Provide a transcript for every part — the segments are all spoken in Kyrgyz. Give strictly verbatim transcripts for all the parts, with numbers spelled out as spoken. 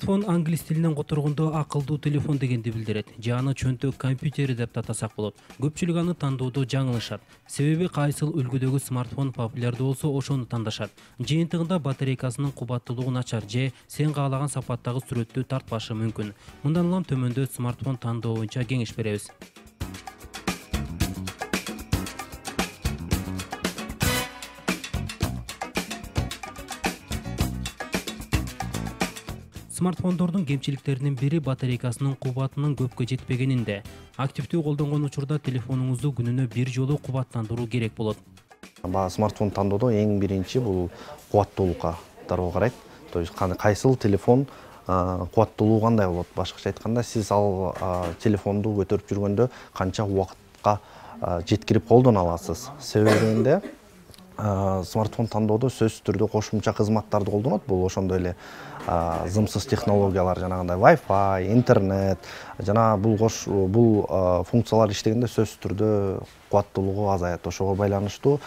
Смартфон англис тилинен которгондо акылдуу телефон дегенди билдирет. Же аны чөнтөк компьютери деп атасак болот. Көпчүлүк аны тандоодо жаңылышат. Себеби кайсыл үлгүдөгү смартфон популярдуу болсо, ошону тандашат. Жыйынтыгында батарейкасынын кубаттуулугу начар же сен каалаган сапаттагы сүрөттү тартпашы мүмкүн. Мындан улам төмөндө смартфон тандоо боюнча кеңеш беребиз. Смартфондордун кемчиликтеринин бири батарейкасынын кубатынын көпкө жетпегенинде. Активдүү колдонгон учурда телефонуңузду күнүнө бир жолу кубаттандыруу керек болот. Смартфон тандоодо эң биринчи бул кубаттуулукка дароо карайт. То есть кайсыл телефон кубаттуулугу кандай болот? Башкача айтканда, сиз ал телефонду көтөрүп жүргөндө канча убакытка жеткирип колдоно аласыз. Себебинде смартфон тандоодо сөзсүз түрдө кошумча кызматтарды колдонот. Бул ошондой эле зымсыз технологиялар, жанагындай Wi-Fi, интернет, жана бул кош бул функциялар иштегенде сөзсүз түрдө кубаттуулугу азаят. Ошого байланыштуу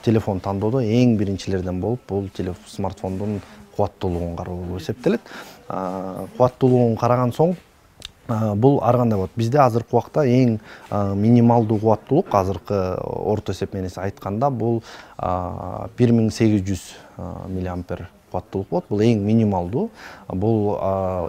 телефон тандоодо эң биринчилерден болуп, бул смартфондун кубаттуулугун кароо болуп эсептелет. Кубаттуулугун караган соң, бул ар кандай болот. Бизде азыркы убакта эң минималдуу кубаттуулук, азыркы орто эсеп менен айтканда, бул бир миң сегиз жүз миллиампер кубаттуулук болот. Бул эң минималдуу. Бул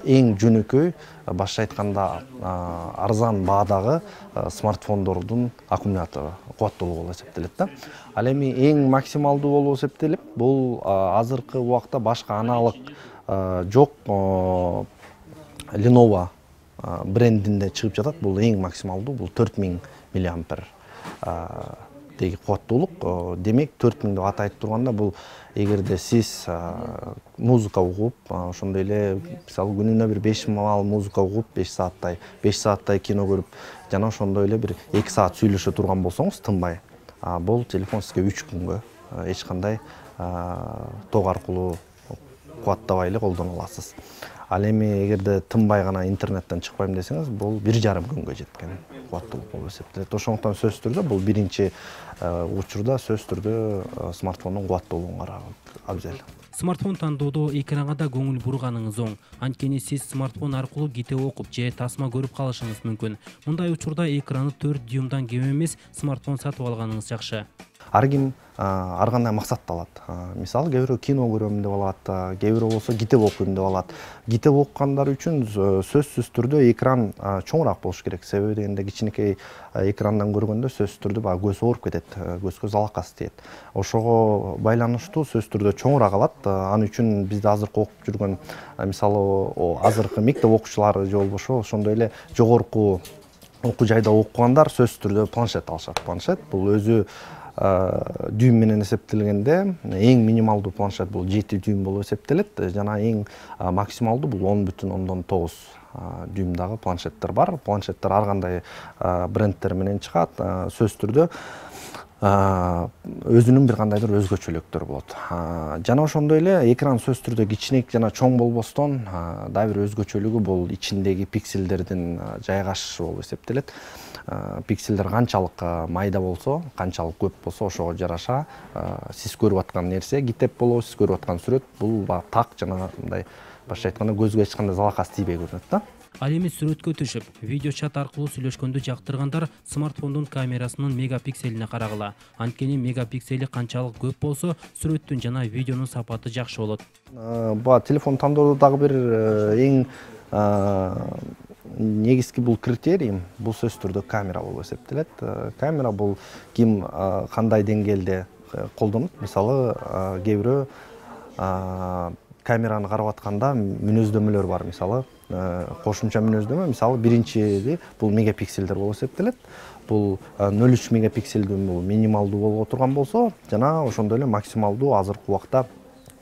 эң жөнөкөй, башка айтканда арзан баадагы смартфондордун аккумулятору кубаттуулугу болуп эсептелет да. Ал эми эң максималдуу болуп эсептелип, бул азыркы убакта башка аналог жок Lenovo брендинде чыгып жатат. Бул эң максималдуу, бул төрт миң миллиампер деги кубаттуулук. Демек, төрт миң деп атайт турганда, бул эгерде сиз музыка угуп, ошондой эле мисалы күнүнө бир беш маал музыка угуп, беш сааттай, беш сааттай кино көрүп, жана ошондой эле бир эки саат сүйлөшө турган болсоңуз тынбай, бул телефон сизге үч күнгө эч кандай ток аркылуу кубаттабай эле колдоно аласыз. Ал эми эгерде тынбай гана интернеттен чыкпайм десеңиз, бул бир жарым күнгө жеткен кубаттуулук болуп эсептелет. Ошондуктан сөзсүз түрдө бул биринчи учурда сөзсүз түрдө смартфондун кубаттуулугун караган абзел. Смартфон тандоодо экранга да көңүл бурганыңыз оң. Анткени сиз смартфон аркылуу китеп окуп же тасма көрүп калышыңыз мүмкүн. Мындай учурда экраны төрт дюймдан кем эмес смартфон сатып алганыңыз жакшы. Ар ким ар кандай максатты алат. Мисалы, кээ бирөө кино көрөм деп алат, кээ бирөө болсо китеп окуйм деп алат. Китеп окугандар үчүн сөзсүз түрдө экран чоңураак болуш керек. Себеби дегенде кичинекей экрандан көргөндө сөзсүз түрдө баягы көз ооруп кетет, көзгө залакасы тиет. Ошого байланыштуу сөзсүз түрдө чоңураак алат. Ал үчүн бизде азыркы окуп жүргөн, мисалы, азыркы мектеп окуучулары же болбошо ошондой эле жогорку окуу жайда окугандар сөзсүз түрдө планшет алышат. Планшет бул өзү дюйм менен эсептелгенде эң минималдуу планшет бул жети дюйм болуп эсептелет, жана эң максималдуу бул он бүтүн ондон тогуз дюймдагы планшеттер бар. Планшеттер ар кандай брендтер менен чыгат. Сөзсүз түрдө өзүнүн бир кандайдыр өзгөчөлүктөрү болот. Жана ошондой эле экран сөзсүз түрдө кичинек жана чоң болбостон, дагы бир өзгөчөлүгү бул ичиндеги пикселдердин жайгашышы болуп эсептелет. Пикселдер канчалык майда болсо, канчалык көп болсо, ошого жараша сиз көрүп аткан нерсе, китеп болобу, сиз көрүп аткан сүрөт, бул так жана мындай башка айтканда көзгө эч кандай залакасы тийбей көрүнөт да. Ал эми сүрөткө түшүп, видео чат аркылуу сүйлөшкөндү жактыргандар смартфондун камерасынын мегапикселине карагыла. Анткени мегапиксели канчалык көп болсо, сүрөттүн жана видеонун сапаты жакшы болот. Ба телефон тандоодо дагы бир эң негизги бул критерий, бул сөзсүз түрдө камера болуп эсептелет. Камера бул ким кандай деңгээлде колдонот. Мисалы, кээ бирөө камераны карап атканда мүнөздөмөлөр бар. Мисалы, кошумча мүнөздөмө, мисалы, биринчиси бул мегапикселдер болуп эсептелет. Бул нөл үч мегапикселдүү бул минималдуу болуп турган болсо, жана ошондой эле максималдуу азыркы убакта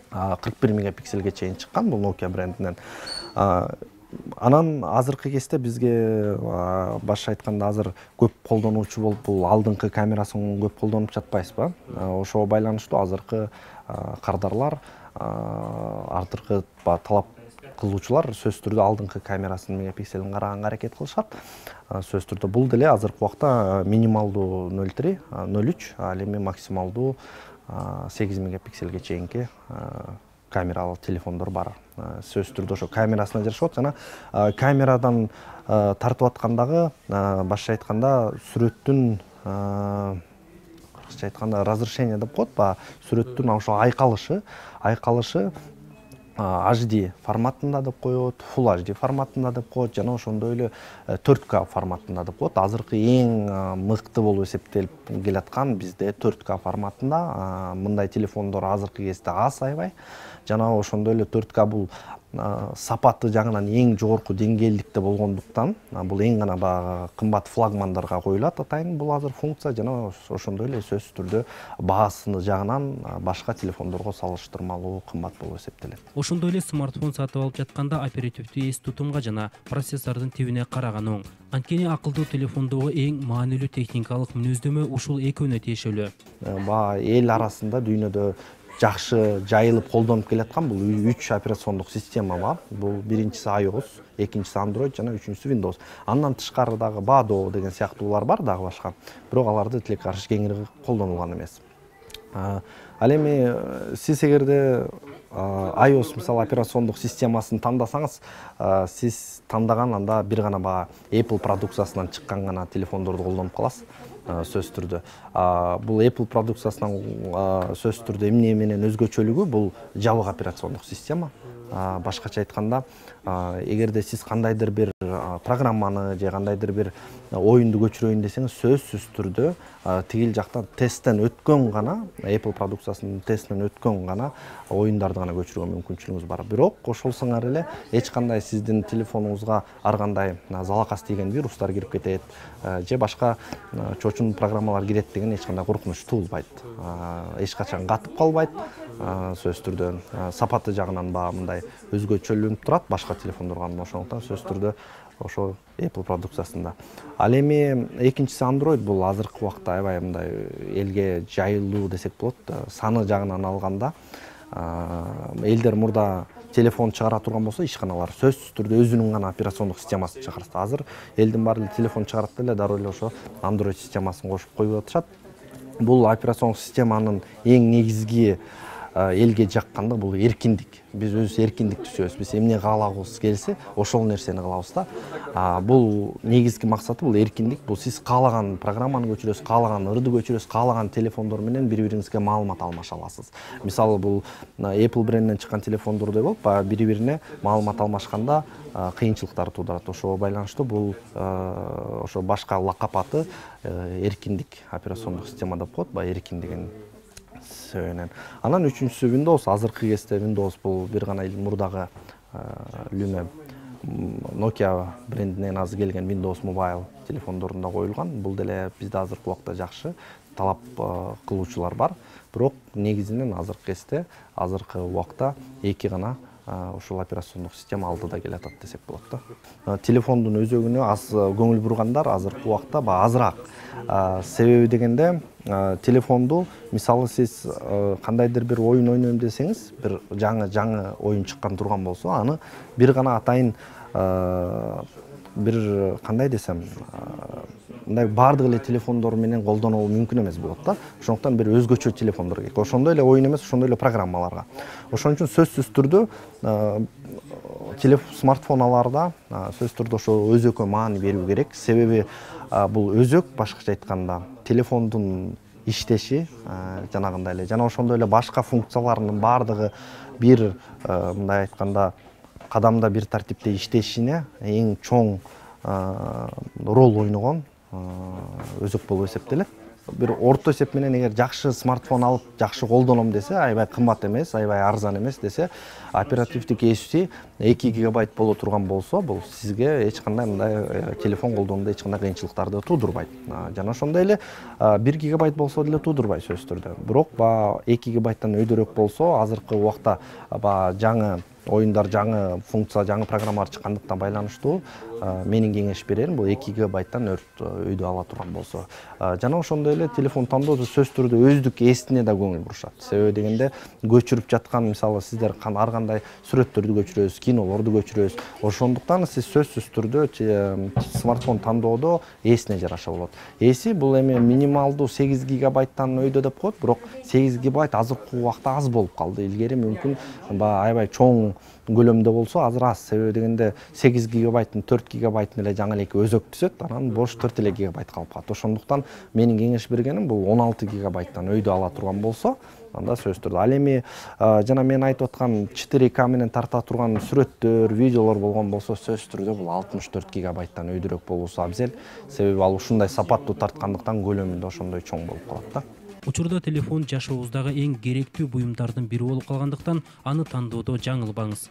кырк бир мегапикселге чейин чыккан, бул Nokia брендинен. Анан азыркы кезде бизге башка айтканда азыр көп колдонуучу болуп, бул алдыңкы камерасын көп колдонуп жатпайсызбы? Ошого байланыштуу азыркы кардарлар, артыркы талап кылуучулар сөзсүз түрдө алдыңкы камерасынын мегапикселин караганга аракет кылышат. Сөзсүз түрдө бул деле азыркы убакта минималдуу нөл три, нөл үч, ал эми максималдуу сегиз мегапикселге чейинки камералуу телефондор бар. Сөзсүз түрдө ошо камерасына жарашат жана камерадан тартып аткандагы башкача айтканда сүрөттүн кыргызча айтканда разрешение деп коет, баягы сүрөттүн ошо айкалышы, айкалышы эйч ди форматында деп коет, Full эйч ди форматында деп коет жана ошондой эле төрт К форматында деп коет. Азыркы эң мыкты болуп эсептелип келаткан бизде төрт К форматында. Мындай телефондор азыркы кезде аз аябай. Жана ошондой эле төрт К бул сапаты жагынан эң жогорку деңгээлдикте болгондуктан бул эң гана баягы кымбат флагмандарга коюлат атайын бул азыр функция жана ошондой эле сөзсүз түрдө баасыны жагынан башка телефондорго салыштырмалуу кымбат болуп эсептелет. Ошондой эле смартфон сатып алып жатканда оперативдүү эс тутумга жана процессордун тибине караган оң. Анткени акылдуу телефондогу эң маанилүү техникалык мүнөздөмө ушул экөөнө тиешелүү. Баягы эл арасында дүйнөдө жакшы жайылып колдонуп келаткан бул үч операциондук система бар. Бул биринчиси iOS, экинчиси Android жана үчүнчүсү Windows. Андан тышкары дагы Bado деген сыяктуулар бар дагы башка. Бирок аларды тилек каршы кеңири колдонулган эмес. Ал эми сиз эгерде iOS мисалы операциондук системасын тандасаңыз, сиз тандаган анда бир гана баягы Apple продукциясынан чыккан гана телефондорду колдонуп каласыз. Сөзсүз түрдө бул Apple продукциясынан сөзсүз түрдө эмне менен өзгөчөлүгү бул жабык операциондук система. Башкача айтканда, эгерде сиз кандайдыр бир программаны же кандайдыр бир оюнду көчүрөйүн десеңиз, сөзсүз түрдө тигил жактан тесттен өткөн гана, Apple продукциясынын тестинен өткөн гана оюндарды гана көчүрүүгө мүмкүнчүлүгүңүз бар. Бирок ошол сыңар эле эч кандай сиздин телефонуңузга ар кандай залакас тийген вирустар кирип кетет же башка чочун программалар кирет деген эч кандай коркунуч туулбайт. Эч качан катып калбайт. Сөзсүз түрдө сапаты жагынан баягы мындай өзгөчөлүнүп турат башка телефондорго, ошондуктан сөзсүз түрдө ошо Apple продукциясында. Ал эми экинчиси Android бул азыркы убакта аябай мындай элге жайылуу десек болот. Саны жагынан алганда элдер мурда телефон чыгара турган болсо, ишканалар сөзсүз түрдө өзүнүн гана операциондук системасын чыгарат. Азыр элдин баары телефон чыгарат эле дароо эле ошо Android системасын кошуп коюп атышат. Бул операциондук системанын эң негизги элге жаккандыгы бул эркиндик. Биз өзүбүз эркиндикти сүйөбүз. Биз эмне каалабыз келсе, ошол нерсени кылабыз да. Бул негизги максаты бул эркиндик. Бул сиз каалаган программаны көчүрөсүз, каалаган ырды көчүрөсүз, каалаган телефондор менен бири-бириңизге маалымат алмаша аласыз. Мисалы бул Apple брендинен чыккан телефондордой болуп, бири-бирине маалымат алмашканда кыйынчылыктар туудурат. Ошого байланыштуу бул ошо башка лакап аты эркиндик операциондук система деп коет, баягы эркин деген сөөнөн. Анан үчүнчүсү Windows. Азыркы кезде Windows бул бир гана мурдагы Lumia Nokia брендинен азыр келген Windows Mobile телефондорунда коюлган. Бул деле бизде азыркы убакта жакшы талап кылуучулар бар. Бирок негизинен азыркы кезде, азыркы убакта эки гана ушул операциондук система алдыда келатат десек болот да. Телефондун өзөгүнө аз көңүл бургандар азыркы убакта азыраак. Себеби дегенде телефонду мисалы сиз кандайдыр бир оюн ойнойм десеңиз, бир жаңы жаңы оюн чыккан турган болсо, аны бир гана атайын бир кандай десем, мындай баардык эле телефондор менен колдонуу мүмкүн эмес болот да. Ошондуктан бир өзгөчө телефондор керек. Ошондой эле оюн эмес, ошондой эле программаларга. Ошон үчүн сөзсүз түрдө телефон смартфоналарда сөзсүз түрдө ошо өзөккө маани берүү керек. Себеби бул өзөк башкача айтканда телефондун иштеши жанагындай эле жана ошондой эле башка функцияларынын баардыгы бир мындай айтканда кадамда бир тартипте иштешине эң чоң роль ойногон өзөк болуп эсептелет. Бир орто эсеп менен эгер жакшы смартфон алып, жакшы колдоном десе, аябай кымбат эмес, аябай арзан эмес десе, оперативдик эси эки гигабайт боло турган болсо, бул сизге эч кандай мындай телефон колдонууда эч кандай кыйынчылыктарды туудурбайт. Жана ошондой эле бир гигабайт болсо деле туудурбай сөзсүз түрдө. Бирок баягы эки гигабайттан өйдөрөөк болсо, азыркы убакта баягы жаңы оюндар жаңы функция, жаңы программалар чыккандыктан байланыштуу менин кеңеш берерим бул эки гигабайттан өйдө ала турган болсо. Жана ошондой эле телефон тандоодо сөзсүз түрдө өздүк эсине да көңүл бурушат. Себеби дегенде көчүрүп жаткан, мисалы сиздер ар кандай сүрөттөрдү көчүрөбүз, кинолорду көчүрөбүз. Ошондуктан сиз сөзсүз түрдө смартфон тандоодо эсине жараша болот. Эси бул эми минималдуу сегиз гигабайттан өйдө деп коет, бирок сегиз гигабайт азыркы убакта аз болуп калды. Илгери мүмкүн баягы аябай чоң көлөмдө болсо азыр аз. Себеби дегенде сегиз гигабайттын төрт гигабайтын эле жаңы элеки өзөк түзөт, анан бош төрт эле гигабайт калып калат. Ошондуктан менин кеңеш бергеним бул он алты гигабайттан өйдө ала турган болсо, анда сөзсүз түрдө. Ал эми жана мен айтып аткан четыре ка менен тарта турган сүрөттөр, видеолор болгон болсо, сөзсүз түрдө бул алтымыш төрт гигабайттан өйдөрөөк болуусу абзел. Себеби ал ушундай сапаттуу тарткандыктан көлөмү да ошондой чоң болуп калат да. Учурда телефон жашообуздагы эң керектүү буюмдардын бири болуп калгандыктан аны тандоодо жаңылбаңыз.